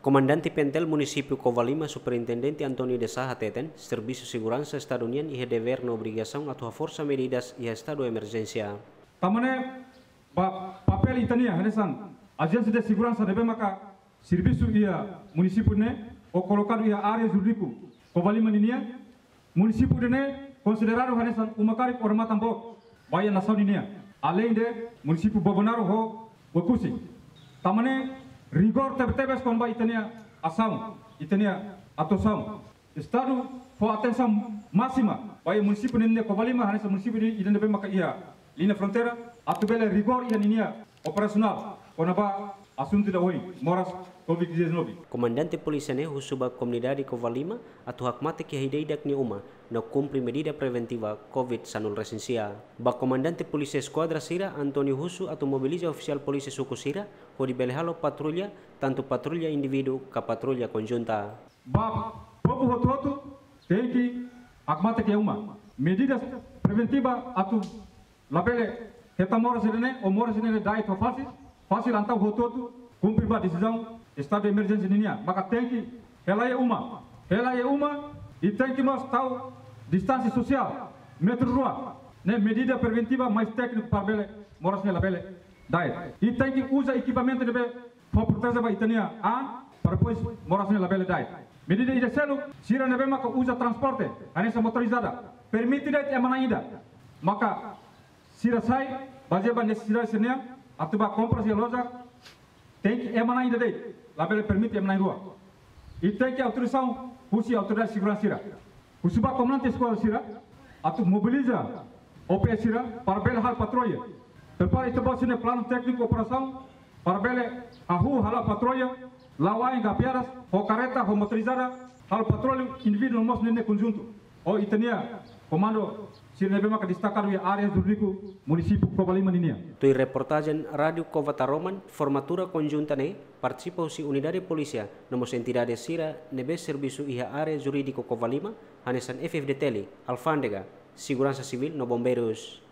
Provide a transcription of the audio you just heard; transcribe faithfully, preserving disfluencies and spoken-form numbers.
Komandante PNTL Munisípiu Covalima, Superintendente António de Sá hateten, servisu seguransa Estadu nian iha devér no obrigasaun atu haforsa medidas iha estadu emerjénsia. Tanba ne'e, ba papél ita-nia hanesan ajénsia de seguransa ne'ebé maka servisu iha munisípiu ne'e, ou kolokadu iha área jurídiku Covalima ninian, munisípiu ida-ne'e konsideradu hanesan uma karik odamatan boot ba iha nasaun ninian, aleinde munisípiu Bobonaro ho Oekusi. Tanba ne'e rigór tebe-tebes kona-ba ita-nia asaun, ita-nia atuasaun. Estadu fó atensaun másima ba iha munisípiu ne'e, Covalima hanesan munisípiu ida ne'ebé maka iha liña fronteira, atu bele rigór iha ninia operasionál kona-ba asuntu ida ohin, moras covid dezanove. Komandante polísia ne'e husu ba komunidade Covalima atu hakmatek iha ida-idak nia uma no kumpre medida preventiva covid sanulu resin sia. Ba komandante polísia eskuadra sira, António husu atu mobiliza ofisiál polísia suku sira hodi bele halo patrulla, tantu patrulla indivíduu ka patrulla konjunta. Ba povu hotu-hotu tenke hakmatek iha uma. Medidas preventiva atu labele hetan moras ida-ne'e, ou moras ida-ne'e da'et ho fasil, fasil entaun hotu-hotu kumpre ba desizaun estadu de emerjénsia ninian. Maka tenke hela iha uma. Hela iha uma, i tenke mós tau distánsia sosiál metru rua. Ne'e medida preventiva mais tékniku para bele moras ne'e labele da'et. I tenke uza ekipamentu ne'ebé fó protesaun ba ita-nia an, para depois moras ne'e labele da'et. Medida ida seluk, sira ne'ebé maka uza transporte hanesan motorizada, permite de'it ema na'in ida. Maka sira sai bazeia ba nesesidade sira-nian, atu bá kompras iha loja, tenke ema na'in ida de'it, labele permite ema na'in rua. I tenke autorizasaun husi autoridade seguransa sira. Husu ba komandante eskuadra sira atu mobiliza O P S sira para bele halo patrulla. Prepara ita-boot sira-nia planu tékniku operasaun para bele hahú hala'o patrulla, la'o ain, gafiadas, ho karreta, ho motorizada, halo patrulla indivíduu no mós ne'e konjuntu. Ho ita-nia komandu sira ne'ebé maka destakadu iha área jurídiku munisípiu Covalima ninian. Tuir reportajen Rádiu Cova Taroman, formatura konjunta ne'e partisipa husi unidade polísia no mós entidade sira ne'ebé servisu iha área jurídiku Covalima, hanesan F F D T L, alfándega, seguransa sivíl no bombeirus.